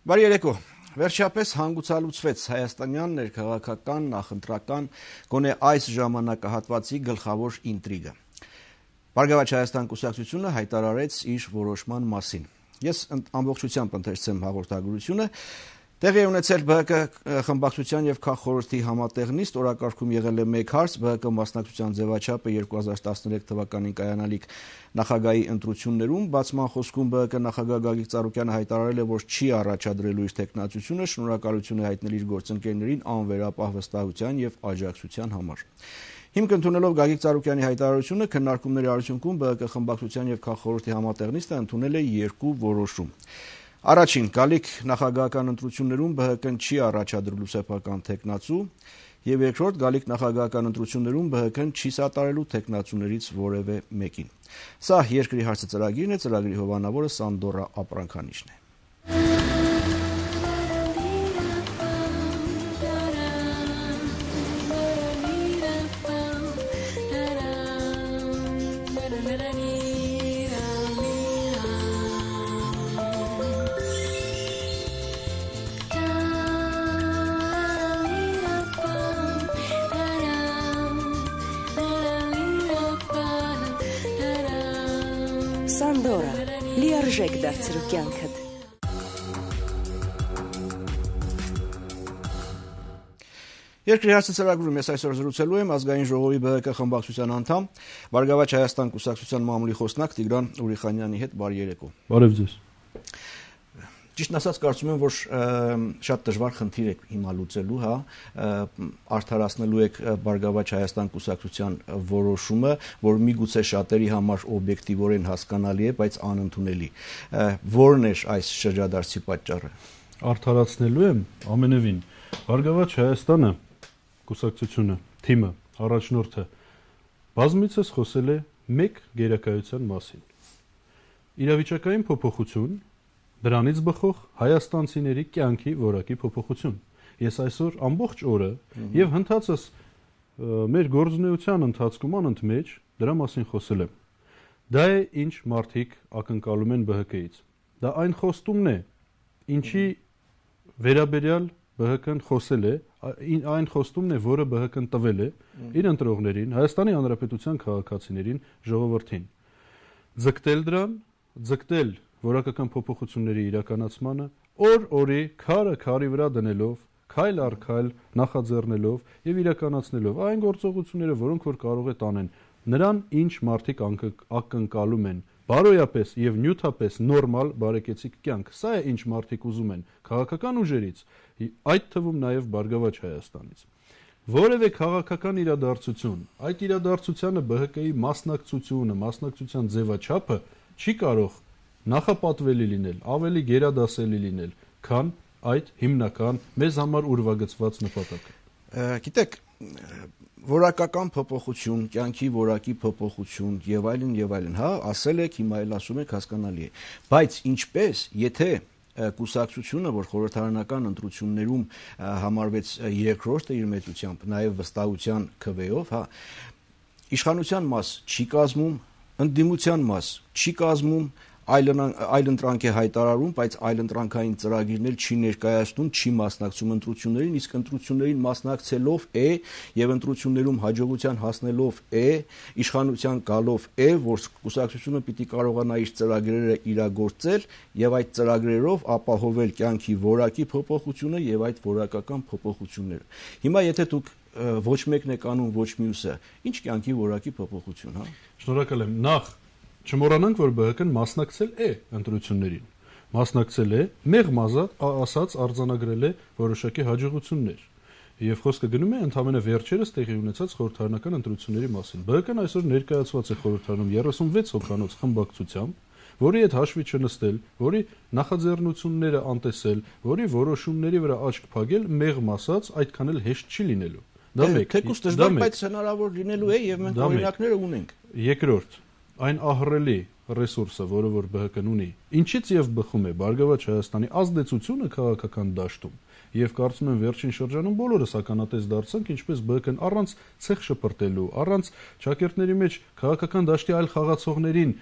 Բարի երեկո։ Վերջապես հանգուցալուծվեց հայաստանյան ներքաղաքական, նախընտրական, գոնե այս ժամանակահատվածի գլխավոր ինտրիգը։ Բարգավաճ Հայաստան կուսակցությունը հայտարարեց իր որոշման մասին։ Ես ամբողջությամբ ընթերցեմ հաղորդագրությունը։ Տեղի է ունեցել ԲՀԿ խմբակցության եւ քաղաքխորհրդի համատեղնիստ, օրակարգում եղել է մեկ հարց, ԲՀԿ մասնակցության ձևաչափը 2013 թվականին կայանալիք նախագահի ընտրություններում, բացման խոսքում ԲՀԿ նախագահ Գագիկ Ծառուկյանը հայտարարել է, որ չի առաջադրելու իր տեխնացությունը, շնորհակալություն է հայտնել իր գործընկերներին անվերապահ վստահության եւ աջակցության համար։ Հիմք ընդունելով Գագիկ Ծառուկյանի հայտարարությունը, քննարկումների արդյունքում ԲՀԿ խմբակցության եւ քաղաքխորհրդի համատեղնիստը ընդունել է երկու որոշում։ Առաջին, գալիք նախագահական ընտրություններում ԲՀԿ-ն չի առաջադրելու սեփական տեխնացու, եւ երկրորդ, գալիք նախագահական ընտրություններում ԲՀԿ-ն չի սատարելու տեխնացուներից որևէ մեկին։ Սա երկրի հարցը ծրագիրն է, ծրագրի հովանավորը Սանդորա Ապրանքանիչն է։ Սանդորա, լիարժեք դարձրու կյանքդ։ Երկրի հարցը ծրագրում ես այսօր զրուցելու եմ ազգային ժողովի ԲՀԿ խմբակցության անդամ, Բարգավաճ Հայաստան կուսակցության մամուլի խոսնակ Տիգրան Ուրիխանյանի հետ։ Բարի երեկո։ Բարև ձեզ։ Ճիշտն ասած, կարծում եմ, որ շատ դժվար խնդիր եք հիմա լուծելու, արդարացնելու եք Բարգավաճ Հայաստան կուսակցության որոշումը, որ միգուցե շատերի համար օբյեկտիվորեն հասկանալի է, բայց անընդունելի։ Որն է այս շրջադարձի պատճառը։ Արդարացնելու եմ ամենևին։ Բարգավաճ Հայաստանը կուսակցությունը, թիմը, առաջնորդը բազմիցս խոսել է մեկ գերակայության մասին։ Իրավիճակային փոփոխություն, դրանից բխող հայաստանցիների կյանքի որակի փոփոխություն։ Ես այսօր ամբողջ օրը եւ հնդածս մեր գործունեության ընթացքում անընդմեջ դրա մասին խոսել եմ։ Դա է ինչ մարդիկ ակնկալում են ԲՀԿ-ից։ Դա այն խոստումն է, ինչի վերաբերյալ ԲՀԿ-ն խոսել է, այն խոստումն է, որը ԲՀԿ-ն տվել է իր ընտրողներին, Հայաստանի Հանրապետության քաղաքացիներին, ժողովրդին։ Ձգտել դրան, ձգտել որակական փոփոխությունների իրականացմանը, օր-օրի քարը վրա դնելով, քայլ առ քայլ նախաձեռնելով եւ իրականացնելով այն գործողությունները, որոնք որ կարող է տանեն նրան, ինչ մարդիկ ակնկալում են, բարոյապես եւ նյութապես նորմալ բարեկեցիկ կյանք։ Սա է ինչ մարդիկ ուզում են քաղաքական ուժերից, այդ թվում նաեւ Բարգավաճ Հայաստանից։ Որևէ քաղաքական իրադարձություն, այդ իրադարձությանը ԲՀԿ-ի մասնակցության ձևաչափը չի կարող նախապատվելի լինել, ավելի գերադասելի լինել, քան այդ հիմնական մեզ համար ուրվագծված նպատակը։ Գիտեք, որակական փոփոխություն, կյանքի որակի փոփոխություն եւ այլն, ասել եք, հիմա էլ ասում եք, հասկանալի է։ Բայց ինչպես, եթե կուսակցությունը, որ խորհրդարանական ընտրություններում համարվեց երկրորդը իր մեծությամբ, նաեւ վստահության քվեով, իշխանության մաս չի կազմում, ընդդիմության մաս չի կազմում, այլընտրանք է հայտարարում, բայց այլընտրանքային ծրագիրներ չի ներկայացնում, չի մասնակցում ընտրություններին, իսկ ընտրություններին մասնակցելով է եւ ընտրություններում հաջողության հասնելով է, իշխանության գալով է, որ կուսակցությունը պիտի կարողանա իր ծրագրերը իրագործել եւ այդ ծրագրերով ապահովել կյանքի որակի փոփոխությունը եւ այդ որակական փոփոխությունները։ Հիմա եթե դուք ոչ մեկն եք անում, ոչ մյուսը, ինչ կյանքի որակի փոփոխություն, Շնորհակալ եմ։ Նախ չմոռանանք, որ ԲՀԿ-ն մասնակցել է ընտրություններին, մասնակցել է, մեղմ ասած արձանագրել է որոշակի հաջողություններ, եւ խոսքը գնում է ընդամենը վերջերս տեղի ունեցած խորհրդարանական ընտրությունների մասին։ ԲՀԿ-ն այսօր ներկայացված է խորհրդարանում 36 հոգանոց խմբակցությամբ, որի հետ հաշվի չնստել, որի նախաձեռնությունները անտեսել, որի որոշումների վրա աչք փակել, մեղմ ասած, այդքան էլ հեշտ չի լինելու։ Դա մեկ։ Թեկուզ դժվար, բայց հնարավոր լինելու է եւ մենք օրինակները ունենք։ Երկրորդ, այն ահռելի ռեսուրսը, որը որ ԲՀԿ-ն ունի, ինչից եւ բխում է Բարգավաճ Հայաստանի ազդեցությունը քաղաքական դաշտում, եւ կարծում եմ վերջին շրջանում բոլորս ականատես դարձանք, ինչպես ԲՀԿ-ն առանց ցեխ շպրտելու, առանց ճակերտների մեջ քաղաքական դաշտի այլ խաղացողներին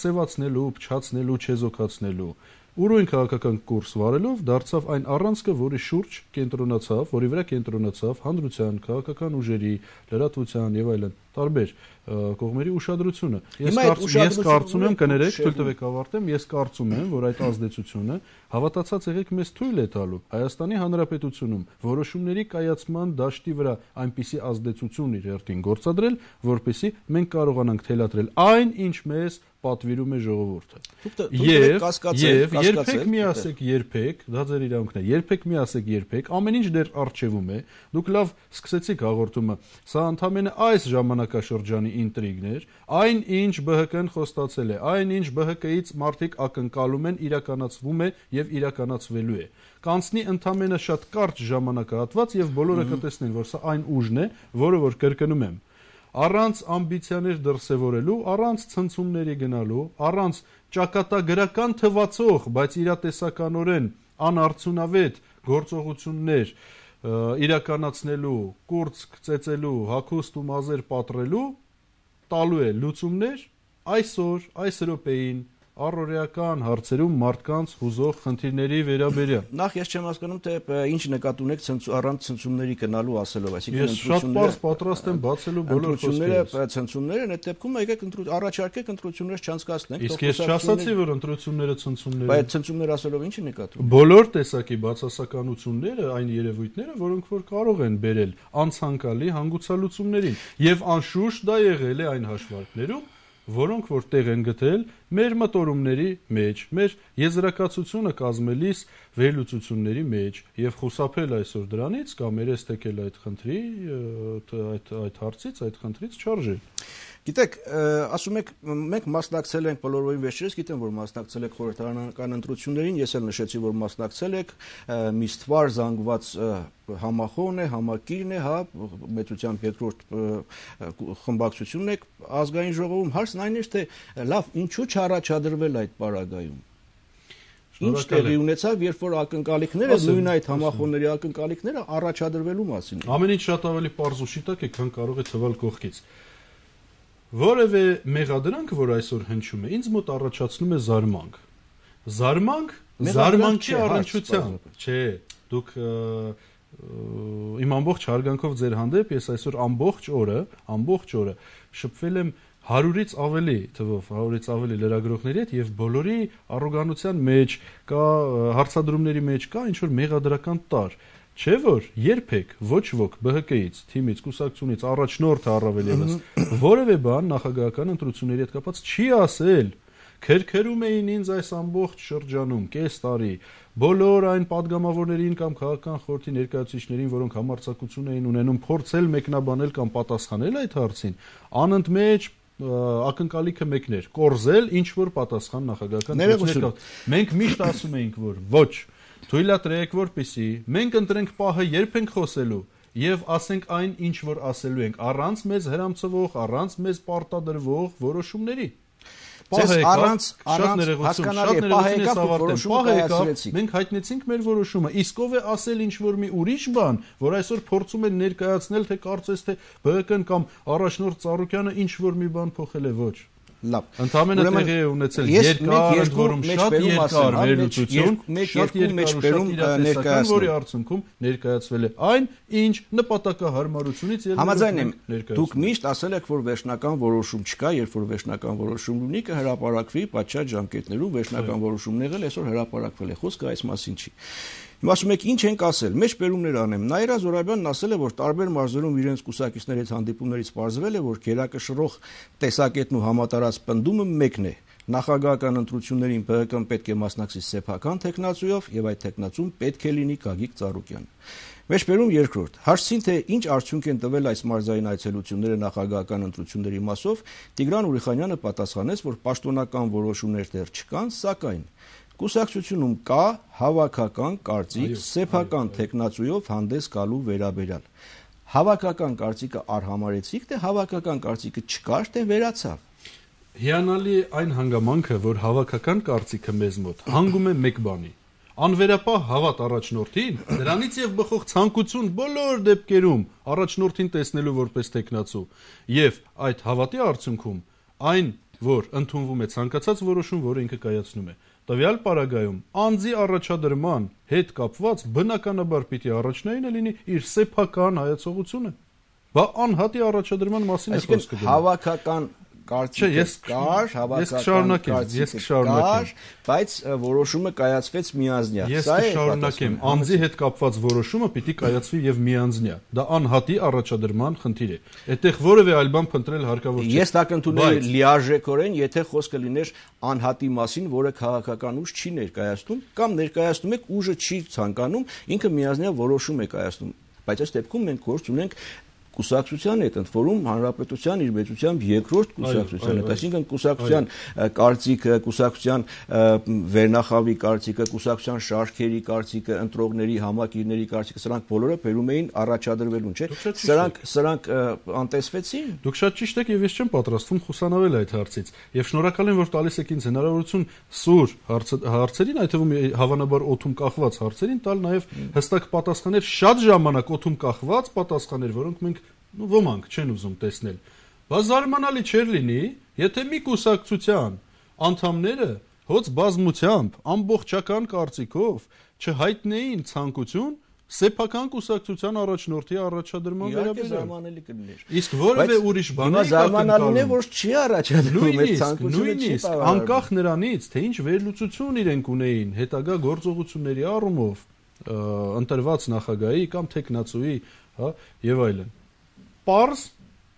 սևացնելու, փչացնելու, չեզոքացնելու, ուրույն քաղաքական կուրս վարելով դարձավ այն առանցքը, որի շուրջ կենտրոնացավ, որի վրա կենտրոնացավ հանրության, քաղաքական ուժերի, լրատվության եւ այլն տարբեր կողմերի ուշադրությունը։ Ես կարծում եմ, կներեք, թույլ տվեք ավարտեմ, ես կարծում եմ, որ այդ ազդեցությունը հավատացած եղեք մեզ թույլ է տալու Հայաստանի Հանրապետությունում որոշումների կայացման դաշտի վրա այնպիսի ազդեցություն իր հերթին գործադրել, որպեսզի մենք կարողանանք թելադրել այն, ինչ մեզ պատվիրում է ժողովուրդը։ Եվ երբեք մի ասեք երբեք, դա ձեր իրավունքն է, երբեք մի ասեք երբեք, ամեն ինչ դեռ առջևում է, դուք լավ սկսեցիք հաղորդումը, սա ընդամենը այս ժամանակաշրջանի ինտրիգն էր, այն ինչ ԲՀԿ-ն խոստացել է, այն ինչ ԲՀԿ-ից մարդիկ ակնկալում են, իրականացվում է եւ իրականացվելու է։ Կանցնի ընդամենը շատ կարճ ժամանակահատված եւ բոլորը կտեսնեն, որ սա այն ուժն է, որը որ կրկնում եմ, առանց ամբիցիաներ դրսևորելու, առանց ցնցումների գնալու, առանց ճակատագրական թվացող, բայց իրատեսականորեն անարդյունավետ գործողություններ իրականացնելու, կուրծք ծեծելու, հագուստ ու մազեր պատռելու, տալու է լուծումներ այսօր, այս րոպեին առօրեական հարցերում մարդկանց հուզող խնդիրների վերաբերյալ։ Նախ ես չեմ հասկանում, թե ինչ նկատի ունեք առանց ցնցումների գնալու ասելով, այսինքն ես շատ պարզ պատրաստ եմ բացելու բոլոր խոսքերը, ցնցումները, այդ դեպքում եկեք առաջարկեք ընտրություններ չանցկացնենք։ Իսկ ես չասացի, որ ընտրությունները ցնցումներ են։ Բայց ցնցումներ ասելով ինչ է նկատում։ Բոլոր տեսակի բացասականությունները, այն երևույթները, որոնք որ կարող են բերել անցանկալի հանգուցալուծումներին, եւ անշուշտ դա եղել է այն հաշվարկներում, որոնք որ տեղ են գտել մեր մտորումների մեջ, մեր եզրակացությունը կազմելիս վերլուծությունների մեջ եւ խուսափել այսօր դրանից կամ երես թեքել այդ խնդրի, այդ հարցից, այդ խնդրից չարժե։ Գիտեք, ասում եք, մենք մասնակցել ենք բոլորովին վերջերս, գիտեմ, որ մասնակցել եք խորհրդարանական ընտրություններին, ես էլ նշեցի, որ մասնակցել եք, մի ստվար զանգված համախոհն է, համակիրն է, հա, մեծությամբ երկրորդ խմբակցությունն է ազգային ժողովում, հարցն այն է, թե լավ, ինչու չառաջադրվել այդ պարագայում։ Ինչ տեղի ունեցավ, երբ որ ակնկալիքները, նույն այդ համախոհների ակնկալիքները առաջադրվելու մասին։ Ամեն ինչ շատ ավելի պարզ ու շիտակ է, քան կարող է թվալ կողքից։ Որևէ մեղադրանք, որ այսօր հնչում է, ինձ մոտ առաջացնում է զարմանք։ Զարմանքի առնչությամբ, չէ, դուք իմ ամբողջ հարգանքով ձեր հանդեպ ես այսօր ամբողջ օրը շփվել եմ 100-ից ավելի թվով, 100-ից ավելի լրագրողների հետ եւ բոլորի առոգանության մեջ կա, հարցադրումների մեջ կա ինչ որ մեղադրական տար։ Չէ՞ որ երբեք ոչ ոք ԲՀԿ-ից, թիմից, կուսակցությունից, առաջնորդը առավել ևս որևէ բան նախագահական ընտրությունների հետ կապված չի ասել։ Քերքերում էին ինձ այս ամբողջ շրջանում, կես տարի, բոլոր այն падգամավորներին կամ քաղաքական խորհրդի ներկայացուցիչներին, որոնք համարձակություն էին ունենում փորձել մեկնաբանել կամ պատասխանել այդ հարցին, անընդմեջ ակնկալիքը մեկն էր՝ կորզել ինչ որ պատասխան նախագահական ընտրությունների։ Մենք միշտ ասում էինք, որ ոչ, թույլատրեք, որպեսզի մենք ընտրենք պահը, երբ ենք խոսելու եւ ասենք այն, ինչ որ ասելու ենք, առանց մեզ հրամցվող, առանց մեզ պարտադրվող որոշումների։ Առանց մենք հայտնեցինք մեր որոշումը, իսկ ով է ասել ինչ որ մի ուրիշ բան, որ այսօր փորձում են ներկայացնել, թե կարծես թե ԲՀԿ-ն կամ առաջնորդ Ծառուկյանը ինչ որ մի բան փոխել է, ոչ։ Լավ։ Ընդհանրապես տեղի է ունեցել երկար, որում շատ երկար վերլուծություն, շատ երկար ներկայացում, որի արդյունքում ներկայացվել է այն, ինչ նպատակահարմարությունից ելնելով։ Համաձայն եմ, դուք միշտ ասել եք, որ վերջնական որոշում չկա, երբ որ վերջնական որոշում ունի, կհրապարակվի պատշաճ ժամկետներում, վերջնական որոշումն եղել, այսօր հրապարակվել է, խոսքը այս մասին չի։ Հիմա ասում եք, ինչ ենք ասել, մեջ պերումներ անեմ։ Նաիրա Զոհրաբյանն ասել է, որ տարբեր մարզերում իրենց կուսակիցների հետ հանդիպումներից պարզվել է, որ գերակշռող տեսակետն ու համատարած պնդումը մեկն է։ Նախագահական ընտրություններին ԲՀԿ-ն պետք է մասնակցի սեփական տեխնացուով եւ այդ տեխնացուն պետք է լինի Գագիկ Ծառուկյանը։ Մեջբերում երկրորդ։ Հարցին թե ինչ արդյունք են տվել այս մարզային այցելությունները նախագահական ընտրությունների մասով, Տիգրան Ուրիխանյանը պատասխանեց, որ պաշտոնական որոշումներ դեռ չկան, սակայն կուսակցությունում կա հավաքական կարծիք սեփական տեխնացուով հանդես գալու վերաբերյալ։ Հավաքական կարծիքը արհամարեցիք, թե հավաքական կարծիքը չկար, թե վերացավ։ Հիանալի այն հանգամանքը, որ հավաքական կարծիքը մեզ մոտ հանգում է մեկ բանի։ Անվերապահ հավատ առաջնորդին, դրանից եւ բխող ցանկություն բոլոր դեպքերում առաջնորդին տեսնելու որպես տեխնացու, եւ այդ հավատի արդյունքում այն որ ընդունվում է ցանկացած որոշում, որը ինքը կայացնում է։ Տվյալ պարագայում անձի առաջադրման հետ կապված բնականաբար պիտի առաջնայինը լինի իր սեփական հայացողությունը։ Բա անհատի առաջադրման մասին է խոսքը գնում։ Հավաքական կարծիքը կար, հավաքական կարծիքը կար, բայց որոշումը կայացվեց միանձնյա։ Ես կշարունակեմ, անձի հետ կապված որոշումը պիտի կայացվի եւ միանձնյա։ Դա անհատի առաջադրման խնդիր է։ Այդտեղ որևէ այլ բան փնտրել հարկավոր չէ։ Ես դա կընդունեի լիարժեքորեն, եթե խոսքը լիներ անհատի մասին, որը քաղաքական ուժ չի ներկայացնում, կամ ներկայացնում եք ուժը չի ցանկանում, ինքը միանձնյա որոշում է կայացնում։ Բայց այս դեպքում մենք գործ ունենք կուսակցության հետ, ընդ որում հանրապետության իր մեծությամբ երկրորդ կուսակցության հետ, այսինքն կուսակցության կարծիքը, կուսակցության վերնախավի կարծիքը, կուսակցության շարքերի կարծիքը, ընտրողների, համակիրների կարծիքը, սրանք բոլորը բերում էին առաջադրվելուն, չէ՞։ Սրանք անտեսվեցին։ Դուք շատ ճիշտ եք եւ ես չեմ պատրաստվում խուսանավել այդ հարցից։ Եվ շնորհակալ եմ, որ տալիս եք ինձ հնարավորություն սուր հարցերին, այդ թվում հավանաբար օդում կախված հարցերին տալ նաեւ հստակ պատասխաններ, շատ ժամանակ օդում կախված պատասխաններ, որոնք մենք ոմանք չեն ուզում տեսնել։ Բա զարմանալի չէր լինի, եթե մի կուսակցության անդամները հոց բազմությամբ ամբողջական կարծիքով չհայտնեին ցանկություն սեփական կուսակցության առաջնորդի առաջադրման վերաբերյալ։ Զարմանալի կլիներ։ Իսկ որևէ ուրիշ բան զարմանալին է, որ չի առաջադրվում այդ ցանկությունը, նույնիսկ անկախ նրանից, թե ինչ վերլուծություն իրենք ունեին հետագա գործողությունների առումով ընտրված նախագահի կամ տեխնացուի, հա, եւ այլն։ Պարզ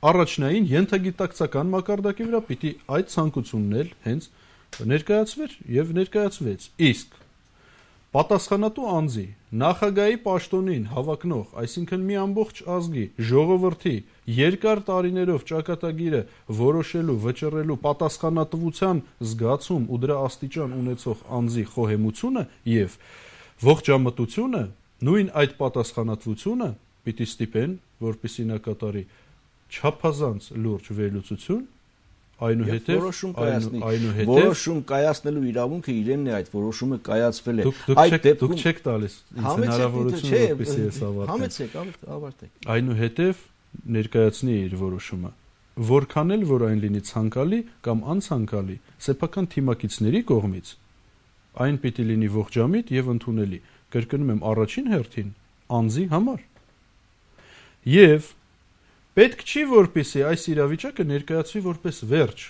առաջնային ենթագիտակցական մակարդակի վրա պիտի այդ ցանկությունն էլ հենց ներկայացվեր եւ ներկայացվեց։ Իսկ պատասխանատու անձի նախագահի պաշտոնին հավակնող, այսինքն մի ամբողջ ազգի ժողովրդի երկար տարիներով ճակատագիրը որոշելու, վճռելու պատասխանատվության զգացում ու դրա աստիճան ունեցող անձի խոհեմությունը եւ ողջամտությունը, նույն այդ պատասխանատվությունը պիտի ստիպեն, որպեսզի նա կատարի չափազանց լուրջ վերլուծություն, այնուհետև որոշում կայացնելու իրավունքը իրենն է, այդ որոշումը կայացվել է։ Դուք չեք տալիս ինձ հնարավորություն, որպեսզի ես ավարտեմ։ Այնուհետև ներկայացնի իր որոշումը, որքան էլ որ այն լինի ցանկալի կամ անցանկալի, սեփական թիմակիցների կողմից այն պիտի լինի ողջամիտ եւ ընդունելի։ Կրկնում եմ, առաջին հերթին անձի համար։ Եվ պետք չի, որպեսզի այս իրավիճակը ներկայացվի որպես վերջ,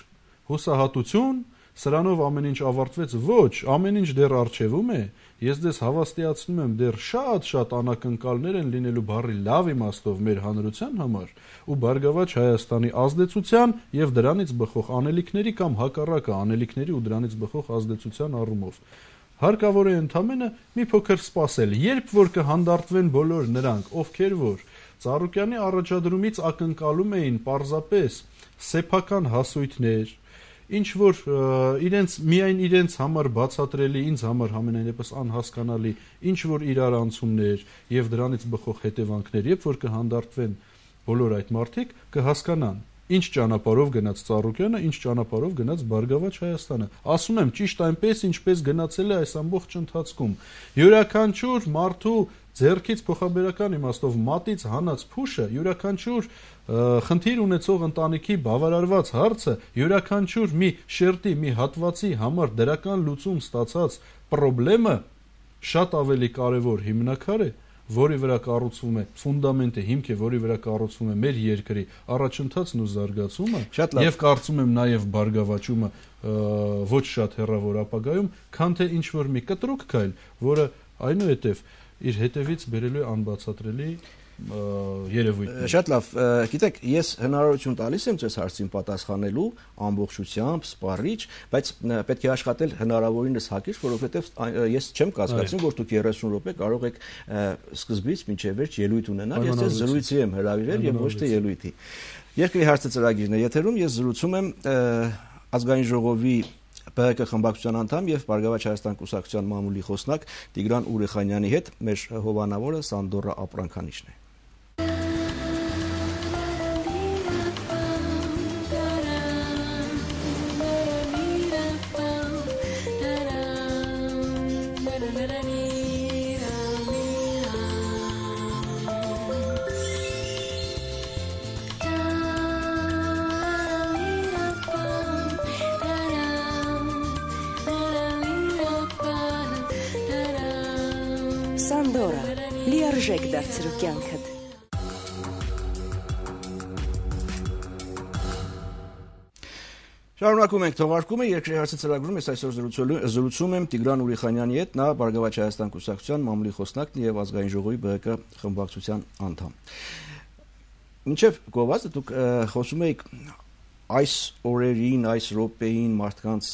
հուսահատություն, սրանով ամեն ինչ ավարտվեց, ոչ, ամեն ինչ դեռ առջևում է։ Ես ձեզ հավաստիացնում եմ, դեռ շատ անակնկալներ են լինելու բառի լավ իմաստով մեր հանրության համար ու Բարգավաճ Հայաստանի ազդեցության եւ դրանից բխող անելիքների կամ հակառակը անելիքների ու դրանից բխող ազդեցության առումով։ Հարկավոր է ընդամենը մի փոքր սպասել, երբ որ կհանդարտվեն բոլոր նրանք, ովքեր որ Ծառուկյանի առաջադրումից ակնկալում էին պարզապես սեփական հասույթներ, ինչ որ միայն իրենց համար բացատրելի, ինձ համար համենայնպես անհասկանալի, ինչ որ իրարանցումներ եւ դրանից բխող հետևանքներ, երբ որ կհանդարտվեն բոլոր այդ մարդիկ, կհասկանան ինչ ճանապարհով գնաց Ծառուկյանը, ինչ ճանապարհով գնաց Բարգավաճ Հայաստանը։ Ասում եմ, ճիշտ այնպես, ինչպես գնացել է այս ամբողջ ընթացքում։ Յուրաքանչյուր մարդու ձեռքից փոխաբերական իմաստով մատից հանած փուշը, յուրաքանչյուր խնդիր ունեցող ընտանիքի բավարարված հարցը, յուրաքանչյուր մի շերտի, մի հատվածի համար դրական լուծում ստացած խնդրեմը շատ ավելի կարևոր հիմնաքար է, որի վրա կառուցվում է ֆունդամենտը, հիմք է, որի վրա կառուցվում է մեր երկրի առաջընթացն ու զարգացումը, եւ կարծում եմ նաեւ բարգավաճումը ոչ շատ հեռավոր ապագայում, քան թե ինչ որ մի կտրուկ քայլ, որը այնուհետև իր հետևից բերելու է անբացատրելի երևույթ։ Շատ լավ, գիտեք, ես հնարավորություն տալիս եմ ձեզ հարցին պատասխանելու ամբողջությամբ, սպառիչ, բայց պետք է աշխատել հնարավորինս հակիրճ, որովհետև ես չեմ կասկածում, որ դուք 30 րոպե կարող եք սկզբից մինչև վերջ ելույթ ունենալ, ես ձեզ զրույցի եմ հրավիրել եւ ոչ թե ելույթի։ Երկրի հարցը ծրագիրն է եթերում, ես զրուցում եմ ազգային ժողովի ԲՀԿ խմբակցության անդամ եւ Բարգավաճ Հայաստան կուսակցության մամուլի խոսնակ Տիգրան Ուրեխանյանի հետ, մեր հովանավորը Սանդորա Ապրանքանիչն է։ Սանդորա, լիարժեք դարձրու կյանքդ։ Շարունակում ենք թողարկումը, երկրի հարցը ծրագրում ես այսօր զրուցում եմ Տիգրան Ուրիխանյանի հետ, նա Բարգավաճ Հայաստան կուսակցության մամուլի խոսնակն եւ ազգային ժողովի ԲՀԿ խմբակցության անդամ։ Մինչև գովազդը դուք խոսում եք այս օրերին, այս րոպեին մարդկանց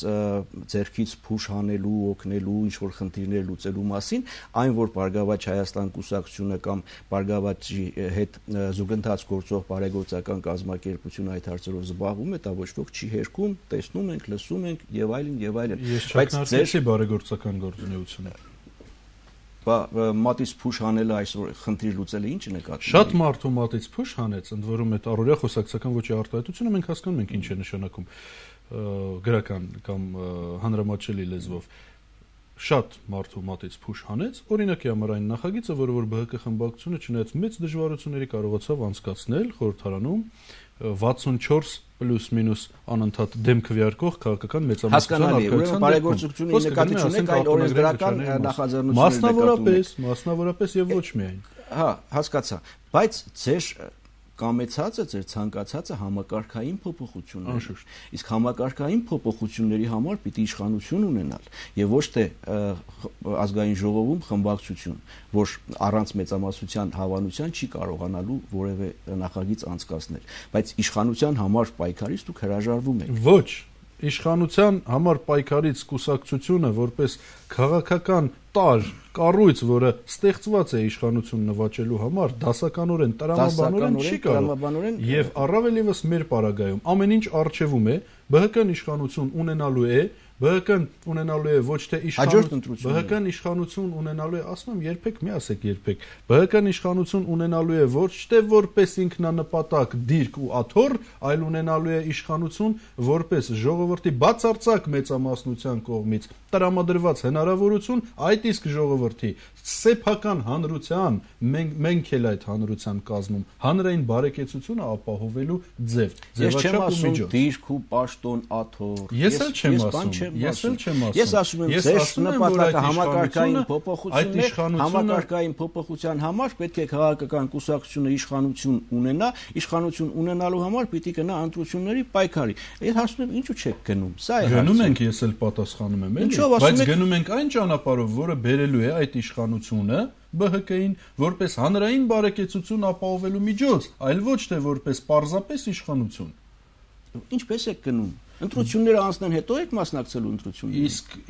ձեռքից փուշ հանելու, օգնելու, ինչ-որ խնդիրներ լուծելու մասին, այն որ Բարգավաճ Հայաստան կուսակցությունը կամ Բարգավաճի հետ զուգընթաց գործող բարեգործական կազմակերպությունը այդ հարցերով զբաղվում է, դա ոչ ոք չի հերքում, տեսնում ենք, լսում ենք եւ այլն եւ այլն։ Ես չքննարկեցի բարեգործական գործունեությունը։ Մատից փուշ հանելը այսօր խնդիր լուծելը ինչ նկատի։ Շատ մարդու մատից փուշ հանեց, ընդ որում այդ առօրյա խոսակցական ոճի արտահայտությունը մենք հասկանում ենք ինչ է նշանակում գրական կամ հանրամատչելի լեզվով։ Շատ մարդու մատից փուշ հանեց, օրինակի համար այն նախագիծը, որը որ ԲՀԿ խմբակցությունը չնայած մեծ դժվարությունների կարողացավ անցկացնել խորհրդարանում 64 պլյուս մինուս անընդհատ դեմ քվեարկող քաղաքական մեծամասնության արկայության բարեգործությունների նկատի չունենք, այլ օրենսդրական նախաձեռնությունների մասնավորապես եւ ոչ միայն։ Հա, հասկացա, բայց ձեր կամեցածը, ձեր ցանկացածը համակարգային փոփոխություններ է։ Իսկ համակարգային փոփոխությունների համար պիտի իշխանություն ունենալ եւ ոչ թե ազգային ժողովում խմբակցություն, որ առանց մեծամասնության հավանության չի կարողանալու որևէ նախագիծ անցկացնել, բայց իշխանության համար պայքարից դուք հրաժարվում եք։ Ոչ, իշխանության համար պայքարից կուսակցությունը որպես քաղաքական տար կառույց, որը ստեղծված է իշխանություն նվաճելու համար, դասականորեն, տրամաբանորեն չի կարող։ Եվ առավել եւս մեր պարագայում ամեն ինչ արժևում է, ԲՀԿ-ն իշխանություն ունենալու է, ԲՀԿ-ն ունենալու է ոչ թե ԲՀԿ-ն իշխանություն ունենալու է, ասում եմ, երբեք մի ասեք երբեք, ԲՀԿ-ն իշխանություն ունենալու է ոչ թե որպես ինքնանպատակ դիրք ու աթոռ, այլ ունենալու է իշխանություն որպես ժողովրդի բացարձակ մեծամասնության կողմից տրամադրված հնարավորություն, այդ իսկ ժողովրդի սեփական հանրության, մենք էլ այդ հանրության կազմում հանրային բարեկեցությունը ապահովելու ձև, ձևաչափ ու միջոց։ Դիրք ու պաշտոն աթոռ։ Ես էլ չեմ ասում։ Ես ասում եմ, ձեր նպատակը համակարգային փոփոխությունն է, համակարգային փոփոխության համար պետք է քաղաքական կուսակցությունը իշխանություն ունենա, իշխանություն ունենալու համար պիտի գնա ընտրությունների պայքարի։ Այդ հարցում ինչու չեք գնում։ Սա է հարցը։ Գնում ենք, ես էլ պատասխանում եմ, էլի, բայց գնում ենք այն ճանապարհով, որը բերելու է այդ իշխանությունը ԲՀԿ-ին որպես հանրային բարեկեցություն ապահովելու միջոց, այլ ոչ թե որպես պարզապես իշխանություն։ Ինչպես եք գնում։ Ընտրությունները անցնեն հետո եք մասնակցելու ընտրություններին։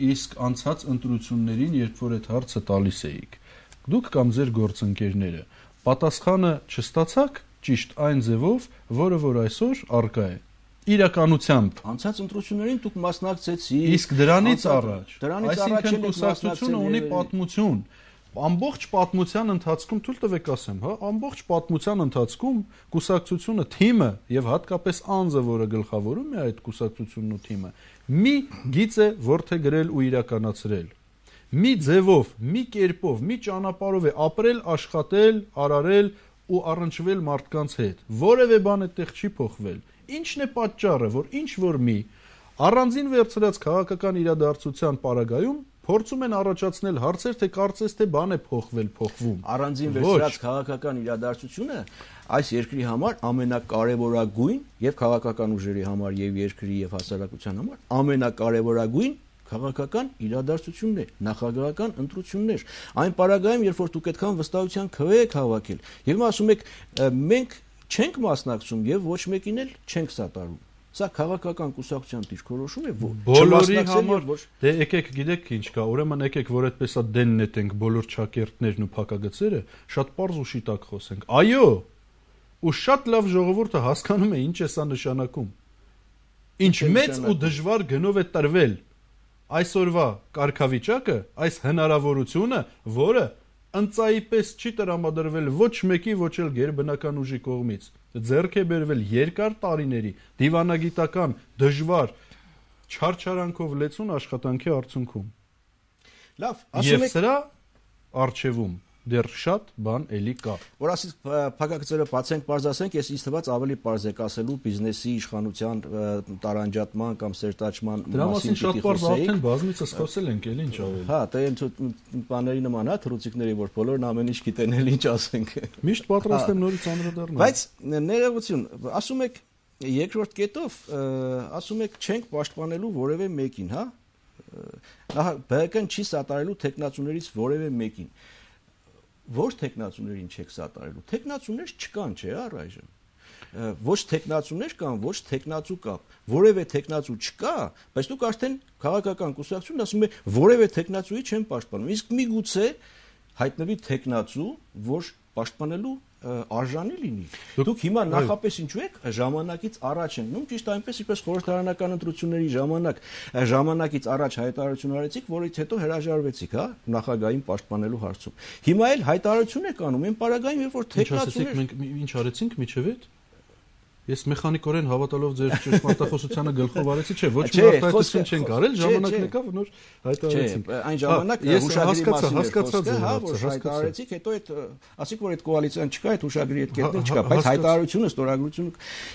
Իսկ անցած ընտրություններին, երբ որ այդ հարցը տալիս էիք, դուք կամ ձեր գործընկերները պատասխանը չստացաք ճիշտ այն ձևով, որը որ այսօր արկա է։ Իրականությամբ անցած ընտրություններին դուք մասնակցեցիք։ Իսկ դրանից առաջ, այսինքն կուսակցությունը ունի պատմություն։ Ամբողջ պատմության ընթացքում թույլ տվեք ասեմ, հա, ամբողջ պատմության ընթացքում կուսակցությունը թիմը եւ հատկապես անձը, որը գլխավորում է այդ կուսակցությունն ու թիմը, մի գիծ է ворթեգրել ու իրականացրել։ Մի ձևով, մի կերպով, մի ճանապարհով է ապրել, աշխատել, արարել ու առնչվել մարդկանց հետ։ Որևէ բան այդտեղ չի փոխվել։ Ինչն է պատճառը, որ ինչ որ մի առանձին վերցրած քաղաքական իրադարձության պարագայում փորձում են առաջացնել հարցեր, թե կարծես թե բան է փոխվում։ Առանձին վերցրած քաղաքական իրադարձությունը այս երկրի համար ամենակարևորագույն եւ քաղաքական ուժերի համար եւ երկրի եւ հասարակության համար ամենակարևորագույն քաղաքական իրադարձությունն է, նախագահական ընտրություններ։ Այն պարագայում, երբ որ դուք այդքան վստահության քվե եք հավաքել, եւ ասում եք մենք չենք մասնակցում եւ ոչ մեկին էլ չենք սատարում։ Սա քաղաքական կուսակցության դիրքորոշում է, բոլորի համար դե եկեք գիտեք ինչ կա, ուրեմն եկեք որ այդպես է դեն նետենք բոլոր ճակերտներն ու փակագծերը, շատ པարզ ու շիտակ խոսենք։ Այո, ու շատ լավ ժողովուրդը հասկանում է ինչ է սա նշանակում։ Ինչ մեծ ու դժվար գնով է տրվել այսօրվա կարգավիճակը, այս հնարավորությունը, որը ընծայի պես չի տրամադրվել ոչ մեկի, ոչ էլ գերբնական ուժի կողմից։ Ձեռք է բերվել երկար տարիների դիվանագիտական դժվար չարչարանքով լեցուն աշխատանքի արդյունքում։ Լավ, ասում եք սրա արխիվում դեռ շատ բան էլի կա։ Որ ասից փակագծերը բացենք, բարձրացենք, ես ինձ թվաց ավելի բարձ եք ասելու բիզնեսի իշխանության տարանջատման կամ սերտաճման Դրա մասին շատ բարձ արդեն բազմիցս խոսել ենք, էլի ինչ ավել։ Հա, դա այն բաների նման է, թռուցիկների, որ բոլորն ամեն ինչ գիտեն, էլ ինչ ասենք։ Միշտ պատրաստ եմ նորից անդրադառնալ։ Բայց ներողություն, ասում եք երկրորդ կետով, ասում եք չենք պաշտպանելու որևէ մեկին, հա։ ԲՀԿ-ն չի սատարելու տեխնացուներից որևէ մեկին։ Ոչ տեխնացուներին չեք սատարելու։ Տեխնացուներ չկան, չէ՞, առայժմ։ Ոչ տեխնացուներ կան, ոչ տեխնացու կա։ Որևէ տեխնացու չկա, բայց դուք արդեն քաղաքական կուսակցությունն ասում եք, որևէ տեխնացուի չեն պաշտպանում։ Իսկ միգուցե հայտնվի տեխնացու, որ պաշտպանելու արժանի լինի։ Դուք հիմա նախապես ինչու եք ժամանակից առաջ ենք, նույն ճիշտ այնպես ինչպես խորհրդարանական ընտրությունների ժամանակից առաջ հայտարարություն արեցիք, որից հետո հրաժարվեցիք, հա, նախագահին պաշտպանելու հարցում։ Հիմա էլ հայտարարություն եք անում, այն պարագայում, երբ որ տեխնացուներ մենք ինչ արեցինք միջևետ։ Ես մեխանիկորեն հավատալով ձեր ճշմարտախոսությանը գլխով արեցի, չէ, ոչ մի արտահայտություն չենք արել, ժամանակն եկավ, նոր հայտարարեցինք։ Այն ժամանակ հուշագրի մասին հասկացա, հա, որ հայտարարեցիք, հետո այդ ասիք, որ այդ կոալիցիան չկա, այդ հուշագրի այդ կետն չկա, բայց հայտարարությունը, ստորագրությունը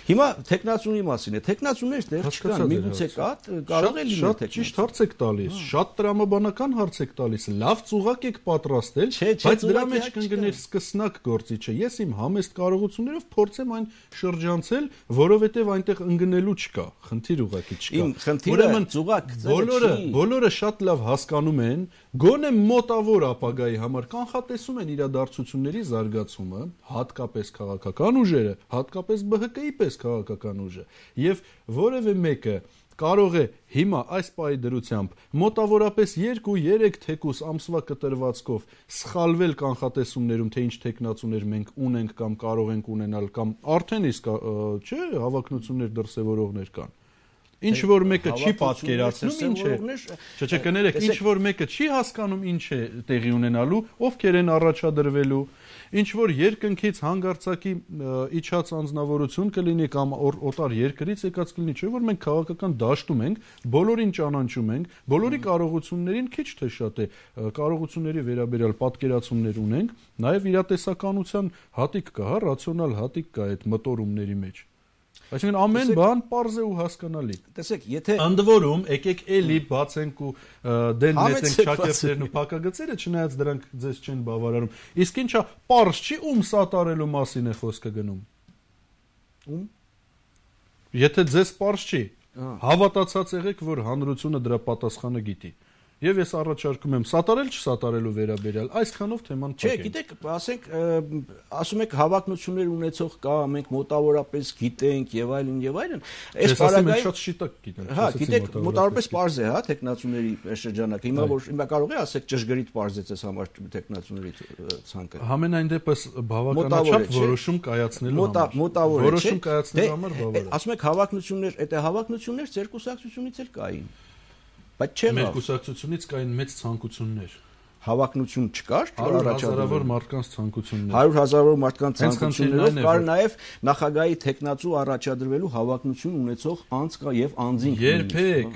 հիմա տեխնացուի մասին է, տեխնացուներ դեռ չկան, միգուցե կա, կարող է լինել տեխնացու։ Ճիշտ հարց եք տալիս, շատ տրամաբանական հարց եք տալիս, լավ ծուղակ եք պատրաստել, բայց դրա մեջ կընկներ սկսնակ գործիչը։ Ես իմ համեստ կարողություններով փորձեմ այն շրջանցել, որովհետև այնտեղ ընկնելու չկա, խնդիր ուղղակի չկա։ Ուրեմն ծուղակ բոլորը շատ լավ հասկանում են, գոնե մոտավոր ապագայի համար կանխատեսում են իրադարձությունների զարգացումը, հատկապես քաղաքական ուժերը, հատկապես ԲՀԿ-ի պես քաղաքական ուժը, եւ որևէ մեկը կարող է հիմա այս պահի դրությամբ մոտավորապես 2-3 թեկուս ամսվա կտրվածքով սխալվել կանխատեսումներում, թե ինչ տեխնացուներ մենք ունենք կամ կարող ենք ունենալ կամ արդեն իսկ չէ, հավակնություններ դրսևորողներ կան։ Ինչ որ մեկը չի պատկերացնում ինչ է։ Չէ, կներեք, ինչ որ մեկը չի հասկանում ինչ է տեղի ունենալու, ովքեր են առաջադրվելու, ինչ որ երկնքից հանգարցակի իջած անձնավորություն կլինի կամ օտար երկրից եկած կլինի, չէ՞ որ մենք քաղաքական դաշտում ենք, բոլորին ճանաչում ենք, բոլորի կարողություններին քիչ թե շատ է կարողությունների վերաբերյալ պատկերացումներ ունենք, նաև իրատեսականության հատիկ կա, հա, ռացիոնալ հատիկ կա այդ մտորումների մեջ։ Այսինքն ամեն բան պարզ է ու հասկանալի։ Տեսեք, եթե ընդ որում եկեք էլի բացենք ու դեն նետենք շակերտներն ու փակագծերը, չնայած դրանք ձեզ չեն բավարարում։ Իսկ ինչա պարզ չի ում սատարելու մասին է խոսքը գնում։ Ում։ Եթե ձեզ պարզ չի, հավատացած եղեք, որ հանրությունը դրա պատասխանը գիտի։ Եվ ես առաջարկում եմ սատարել չսատարելու վերաբերյալ այսքանով թեման փակենք։ Չէ, գիտեք, ասենք, ասում եք հավակնություններ ունեցող կա, մենք մոտավորապես գիտենք եւ այլն եւ այլն։ Այս պարագայում շատ շիտակ գիտենք։ Հա, գիտեք, մոտավորապես պարզ է, հա, տեխնացուների շրջանակը։ Հիմա կարող է ասեք ճշգրիտ պարզեց այս համար տեխնացուների ցանկը։ Համենայն դեպս բավականաչափ որոշում կայացնելու համար։ Մոտավոր է, որոշում կայացնելու համար բավարար է։ Ասում եք հավակնություններ, այդ հավակնություններ ձեր կուսակցությունից էլ կային։ Բայց չէ, մեր կուսակցությունից կային մեծ ցանկություններ։ Հավակնություն չկար, հազարավոր մարդկանց ցանկություններ։ 100,000 մարդկանց ցանկություններով կար նաև նախագահի տեխնացու առաջադրվելու հավակնություն ունեցող անձ կա եւ անձինք։ Երբեք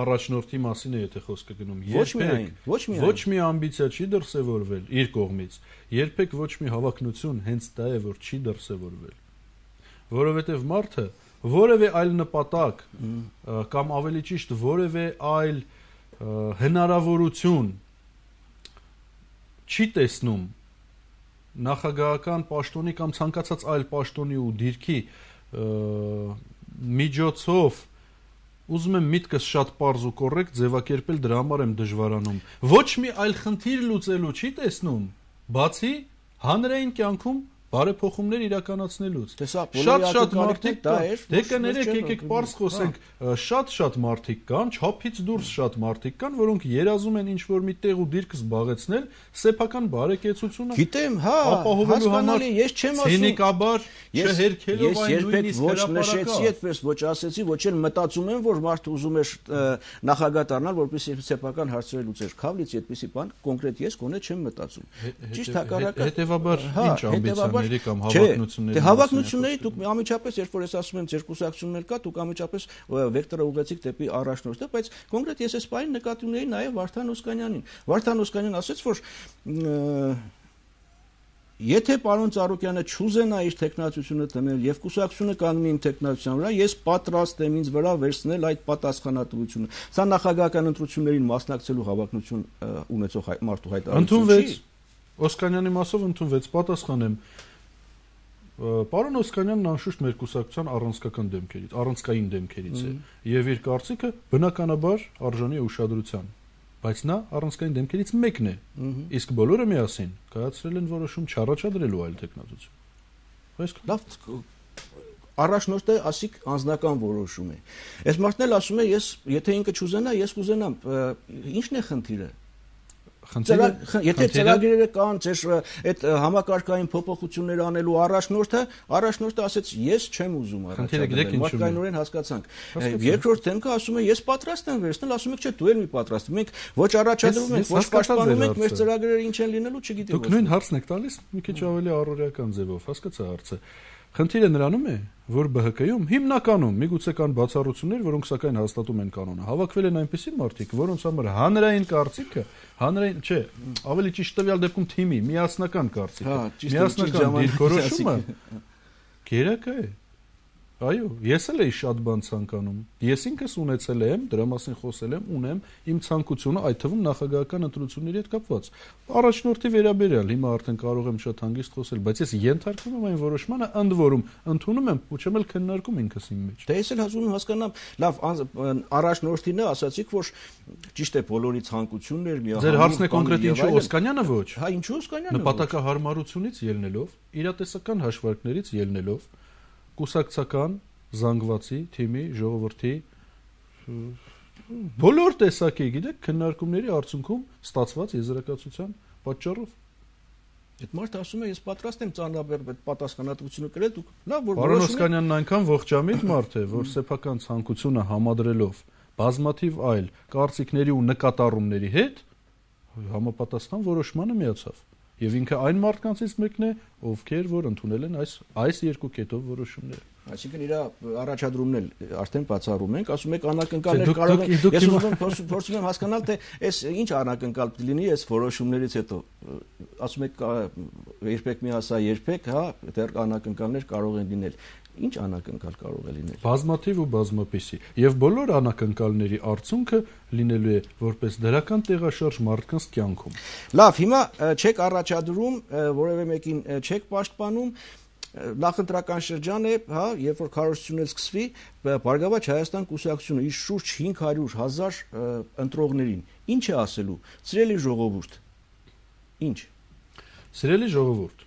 առաջնորդի մասին է եթե խոսքը գնում։ Ոչ մի ամբիցիա չի դրսևորվել իր կողմից։ Երբեք ոչ մի հավակնություն հենց դա է, որ չի դրսևորվել։ Որովհետեւ մարդը որևէ այլ նպատակ կամ ավելի ճիշտ որևէ այլ հնարավորություն չի տեսնում նախագահական պաշտոնի կամ ցանկացած այլ պաշտոնի ու դիրքի միջոցով ուզում եմ միտքս շատ պարզ ու կոռեկտ ձևակերպել, դրա համար եմ դժվարանում։ Ոչ մի այլ խնդիր լուծելու չի տեսնում, բացի հանրային կյանքում բարեփոխումներ իրականացնելուց։ Շատ մարդիկ դա է։ Դե կներեք, եկեք պարզ խոսենք, շատ մարդիկ կան, չափից դուրս շատ մարդիկ կան, որոնք երազում են ինչ-որ մի տեղ ու դիրք զբաղեցնել, սեփական բարեկեցությունը։ Գիտեմ, հա, ապահովելու համար ես չեմ ասում։ Ցինիկաբար չհերքելով այն նույնիսկ ոչ նշեցի այդպես, ոչ ասեցի, ոչ էլ մտածում եմ, որ մարդը ուզում է նախագահ դառնալ, որպեսզի սեփական հարցերը լուծեր։ Քավլից այդպեսի բան կոնկրետ ես գոնե չեմ մտածում։ Ճիշտ հակառակը։ Հետևաբար ինչ ամբիցիաների կամ հավակնությունների։ Դե հավակնությունների դուք ամիջապես, երբ որ ես ասում եմ ձեր կուսակցություններ կա, դուք ամիջապես վեկտորը ուղղեցիք դեպի առաջնորդը, բայց կոնկրետ ես այս բանին նկատի ունեի նաև Վարդան Օսկանյանին։ Վարդան Օսկանյանն ասաց, որ եթե պարոն Ծառուկյանը չուզենա իր տեխնացությունը դնել եւ կուսակցությունը կանգնի իմ տեխնացության վրա, ես պատրաստ եմ ինձ վրա վերցնել այդ պատասխանատվությունը։ Սա նախագահական ընտրություններին մասնակցելու հավակնություն ունեցող մարդու հայտարարություն չի։ Օսկանյանի մասով ընդունվեց, պատասխանեմ։ Պարոն Օսկանյանն անշուշտ մեր կուսակցության առանցքային դեմքերից է եւ իր կարծիքը բնականաբար արժանի է ուշադրության, բայց նա առանցքային դեմքերից մեկն է, իսկ բոլորը միասին կայացրել են որոշում չառաջադրելու այլ տեխնացություն։ Լավ, առաջնորդը ասիկ անձնական որոշում է։ Այս մարդն էլ ասում է, եթե ինքը չուզենա, ես կուզենամ։ Ի՞նչն է խնդիրը։ Եթե ծրագրերը կան, այդ համակարգային փոփոխություններ անելու առաջնորդը ասեց, ես չեմ ուզում առաջադրել, մարդկայնորեն հասկացանք։ Երկրորդ դեմքը ասում է, ես պատրաստ եմ վերցնել, ասում եք, չէ, դու էլ մի պատրաստ ես։ Մենք ոչ առաջադրում ենք, ոչ պաշտպանում ենք, մեր ծրագրերը ինչ են լինելու, չգիտեմ։ Դուք նույն հարցն եք տալիս, մի քիչ ավելի առօրեական ձևով, հասկացա հարցը։ Խնդիրը նրանում է, որ ԲՀԿ-ում հիմնականում միգուցե կան բացառություններ, որոնք սակայն հաստատում են կանոնը։ Հավաքվել են այնպիսի մարդիկ, որոնց համար հանրային կարծիքը, ավելի ճիշտ տվյալ դեպքում թիմի միասնական կարծիքը, միասնական դիրքորոշումը գերակա է։ Այո, ես էլ էի շատ բան ցանկանում։ Ես ինքս ունեցել եմ, դրա մասին խոսել եմ, ունեմ իմ ցանկությունը, այդ թվում նախագահական ընտրությունների հետ կապված։ Առաջնորդի վերաբերյալ հիմա արդեն կարող եմ շատ հանգիստ խոսել, բայց ես ենթարկվում եմ այն որոշմանը, ընդ որում ընդունում եմ, ու չեմ էլ քննարկում ինքս իմ մեջ։ Դե ես էլ հազում եմ հասկանամ, լավ, առաջնորդին ասացիք, որ ճիշտ է, բոլորի ցանկությունն էր միահանում։ Ձեր հարցն է կոնկրետ ինչու Օսկանյանը ոչ։ Հա, ինչու Օսկանյանը։ Նպատակահարմարությունից ելնելով, իրատեսական հաշվարկներից ելնելով, կուսակցական, զանգվածի, թիմի, ժողովրդի բոլոր տեսակի, գիտեք, քննարկումների արդյունքում ստացված եզրակացության պատճառով։ Այդ մարդը ասում է, ես պատրաստ եմ ծանրաբեռ պատասխանատվությունը կրել, դուք լավ որ Պարոն Օսկանյանն այնքան ողջամիտ մարդ է, որ սեփական ցանկությունը համադրելով բազմաթիվ այլ կարծիքների ու նկատառումների հետ համապատասխան որոշմանը միացավ։ Եվ ինքը այն մարդկանցից մեկն է, ովքեր որ ընդունել են այս երկու կետով որոշումները։ Այսինքն իր առաջադրումն էլ արդեն բացառում ենք, ասում եք անակնկալներ կարող են։ Ես ուզում եմ փորձում եմ հասկանալ, թե այս ինչ անակնկալ պիտի լինի այս որոշումներից հետո։ Ասում եք երբեք մի ասա, երբեք, հա, դեռ անակնկալներ կարող են լինել։ Ինչ անակնկալ կարող է լինել։ Բազմաթիվ ու բազմապիսի։ Եվ բոլոր անակնկալների արդյունքը լինելու է որպես դրական տեղաշարժ մարդկանց կյանքում։ Լավ, հիմա չեք առաջադրում, որևէ մեկին չեք պաշտպանում, նախընտրական շրջան է, հա, երբ որ քարոզությունն սկսվի, Բարգավաճ Հայաստան կուսակցությունը իր շուրջ 500,000 ընտրողներին ինչ է ասելու։ Սիրելի ժողովուրդ։ Ինչ։ Սիրելի ժողովուրդ,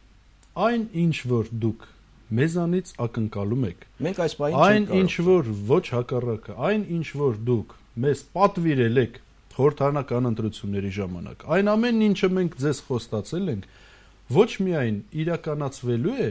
այն ինչ որ դուք մեզանից ակնկալում եք։ Մենք այս բանը չենք այն ինչ որ ոչ հակառակը, այն ինչ որ դուք մեզ պատվիրել եք խորհրդարանական ընտրությունների ժամանակ, այն ամենն ինչը մենք ձեզ խոստացել ենք, ոչ միայն իրականացվելու է,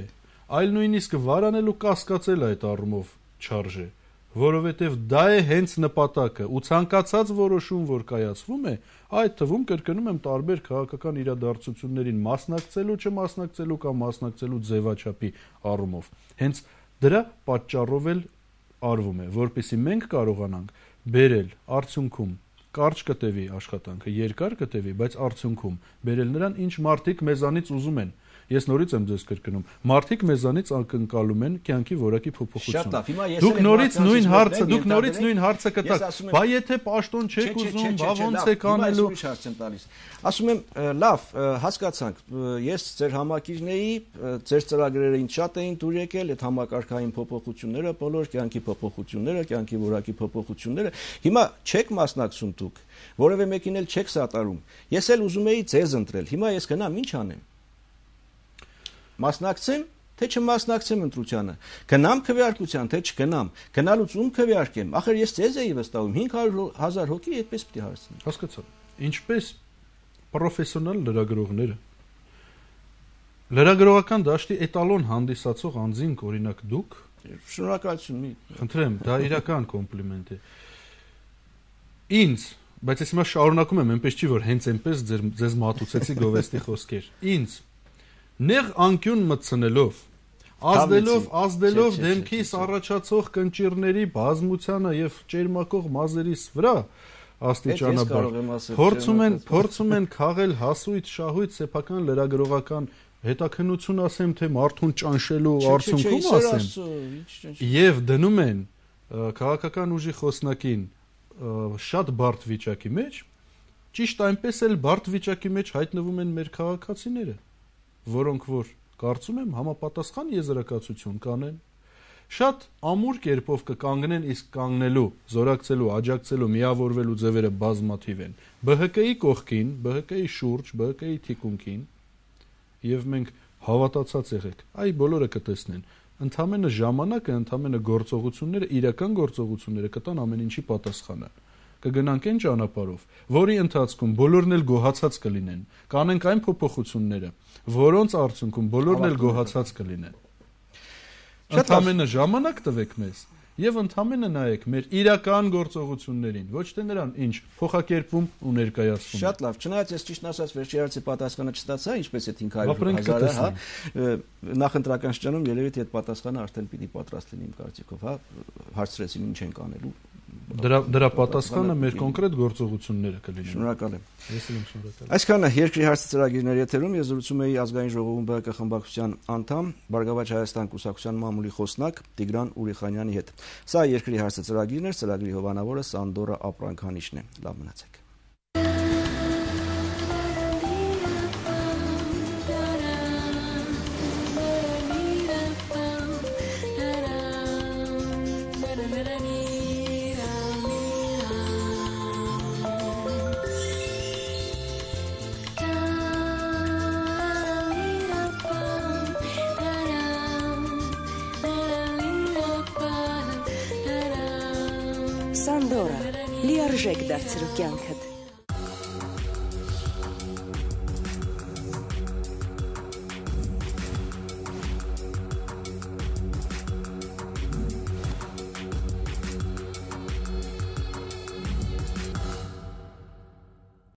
այլ նույնիսկ վարանելու կասկածել այդ առումով չարժե, որովհետև դա է հենց նպատակը ու ցանկացած որոշում, որ կայացվում է, այդ թվում կրկնում եմ տարբեր քաղաքական իրադարձություններին մասնակցելու, չմասնակցելու կամ մասնակցելու ձևաչափի առումով։ Հենց դրա պատճառով էլ արվում է, որպեսզի մենք կարողանանք բերել արդյունքում կարճ կտևի աշխատանքը, երկար կտևի, բայց արդյունքում բերել նրան, ինչ մարդիկ մեզանից ուզում են։ Ես նորից եմ ձեզ կրկնում, մարդիկ մեզանից ակնկալում են կյանքի որակի փոփոխություն։ Դուք նորից նույն հարցը կտաք, բա եթե պաշտոն չեք ուզում, բա ոնց եք անելու։ Ասում եմ, լավ, հասկացանք, ես ձեր համակիրն էի, ձեր ծրագրերը ինձ շատ էին դուր եկել, այդ համակարգային փոփոխությունները, բոլոր կյանքի փոփոխությունները, կյանքի որակի փոփոխությունները, հիմա չեք մասնակցում դուք, որևէ մեկին էլ չեք սատարում։ Ես էլ ուզում էի ձեզ ընտրել, հիմա ես գնամ, ինչ անեմ։ Մասնակցեմ, թե չմասնակցեմ ընտրությանը, գնամ քվեարկության, թե չգնամ, գնալուց ում քվեարկեմ, ախր ես ձեզ էի վստահում, 500,000 հոգի այդպես պիտի հարցնեմ։ Հասկացա։ Ինչպես պրոֆեսիոնալ լրագրողները, լրագրողական դաշտի էտալոն հանդիսացող անձինք, օրինակ դուք, շնորհակալություն, խնդրեմ, դա իրական կոմպլիմենտ է։ Ինձ, բայց ես հիմա շարունակում եմ, այնպես չի, որ հենց այնպես ձեզ մատուցեցի գովեստի խոսքեր։ Ինձ նեղ անկյուն մտցնելով, ազդելով դեմքիս առաջացող կնճիռների բազմությանը եւ ճերմակող մազերիս վրա, աստիճանաբար փորձում են քաղել հասույթ շահույթ սեփական լրագրողական հետաքննություն ասեմ, թե մարդուն ճանշելու արդյունքում ասեմ։ Եվ դնում են քաղաքական ուժի խոսնակին շատ բարդ վիճակի մեջ, ճիշտ այնպես էլ բարդ վիճակի մեջ հայտնվում են մեր քաղաքացիները, որոնք որ կարծում եմ համապատասխան եզրակացություն կանեն, շատ ամուր կերպով կկանգնեն, իսկ կանգնելու, զորակցելու, աջակցելու, միավորվելու ձևերը բազմաթիվ են։ ԲՀԿ-ի կողքին, ԲՀԿ-ի շուրջ, ԲՀԿ-ի թիկունքին, եւ մենք հավատացած եղեք, այ բոլորը կտեսնեն, ընդամենը ժամանակը, ընդամենը գործողությունները, իրական գործողությունները կտան ամեն ինչի պատասխանը։ Կգնանք այն ճանապարհով, որի ընթացքում բոլորն էլ գոհացած կլինեն, կանենք այն փոփոխությունները, որոնց արդյունքում բոլորն էլ գոհացած կլինեն։ Ընդամենը ժամանակ տվեք մեզ եւ ընդամենը նայեք մեր իրական գործողություններին, ոչ թե նրան, ինչ փոխակերպվում ու ներկայացվում։ Շատ լավ, չնայած ես ճիշտ ասած վերջի հարցի պատասխանը չստացա, ինչպես է 500,000, հա, նախընտրական շրջանում երևի թե այդ պատասխանը արդեն պիտի պատրաստ լինի իմ կարծիքով, հա, հարցրեցին ինչ ենք անելու։ Դրա պատասխանը մեր կոնկրետ գործողությունները կլինեն։ Շնորհակալ եմ։ Ես եմ շնորհակալ։ Այսքանը երկրի հարցի ծրագիրների եթերում ես զրուցում էի ազգային ժողովում ԲՀԿ խմբակցության անդամ, Բարգավաճ Հայաստան կուսակցության մամուլի խոսնակ Տիգրան Ուրիխանյանի հետ։ Սա երկրի հարցի ծրագիրն էր, ծրագրի հովանավորը Սանդորա Ապրանքանիշն է։ Լավ մնացեք։ Սանդորա լիարժեք դարձրու կյանքդ։